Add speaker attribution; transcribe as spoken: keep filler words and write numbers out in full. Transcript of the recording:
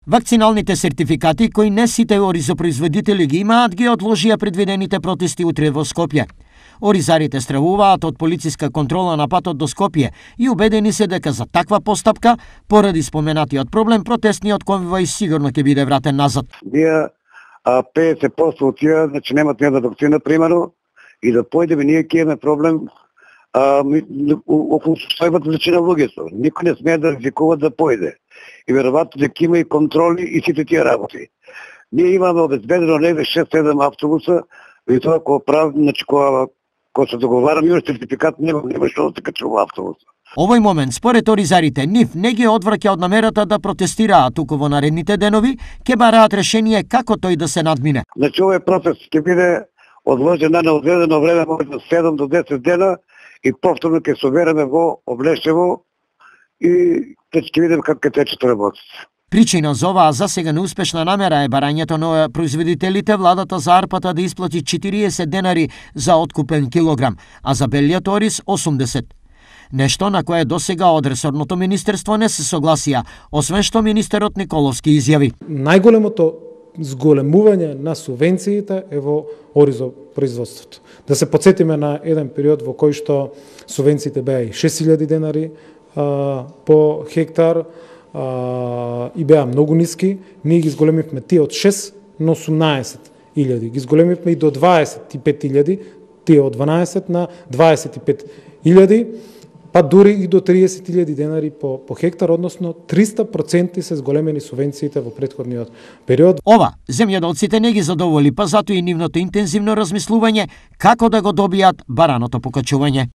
Speaker 1: Вакциналните сертификати кои не сите оризопроизводители ги имаат, ги одложија предвидените протести утре во Скопје. Оризарите стравуваат од полициска контрола на патот до Скопје и убедени се дека за таква постапка, поради споменатиот проблем, протестниот конвој сигурно ќе биде вратен назад.
Speaker 2: Ние петдесет проценти од тие, значи немат ни една вакцина, примерно, и да појдеме, ние ќе имаме проблем околу состојбата зачина луѓето. Никој не смее да ризикува да појде. И веројатно дека има и контроли и сите тие работи. Ние имаме обезбедено негде шест-седем автобуса, и тоа кога прави, значи кога кога се договараме, имаш сертификат, нема, нема што да се качува автобуса.
Speaker 1: Овој момент, според оризарите, нив не ги одвраќа од намерата да протестираат, туку во наредните денови ќе бараат решение како тој да се надмине.
Speaker 2: Значи овој протест ќе биде одложен на неодредено време, може до седум до десет дена, и повторно ќе се собереме во Облешево и ќе видиме како ќе течат работите.
Speaker 1: Причина за оваа засега неуспешна намера е барањето на производителите владата за арпата да исплати четириесет денари за откупен килограм, а за белиот ориз осумдесет. Нешто на кое досега од ресорното министерство не се согласија, освен што министерот Николовски изјави.
Speaker 3: Најголемото зголемување на субвенциите е во оризопроизводството. Да се потсетиме на еден период во кој што субвенциите беа и шест илјади денари а, по хектар, Uh, и беа многу ниски, ние ги зголемивме тие од шест на осумнаесет илјади. Ги зголемивме и до дваесет и пет илјади, тие од дванаесет на дваесет и пет илјади, па дури и до триесет илјади денари по, по хектар, односно триста проценти се зголемени субвенциите во претходниот период.
Speaker 1: Ова, земјоделците не ги задоволи, па затоа и нивното интензивно размислување како да го добијат бараното покачување.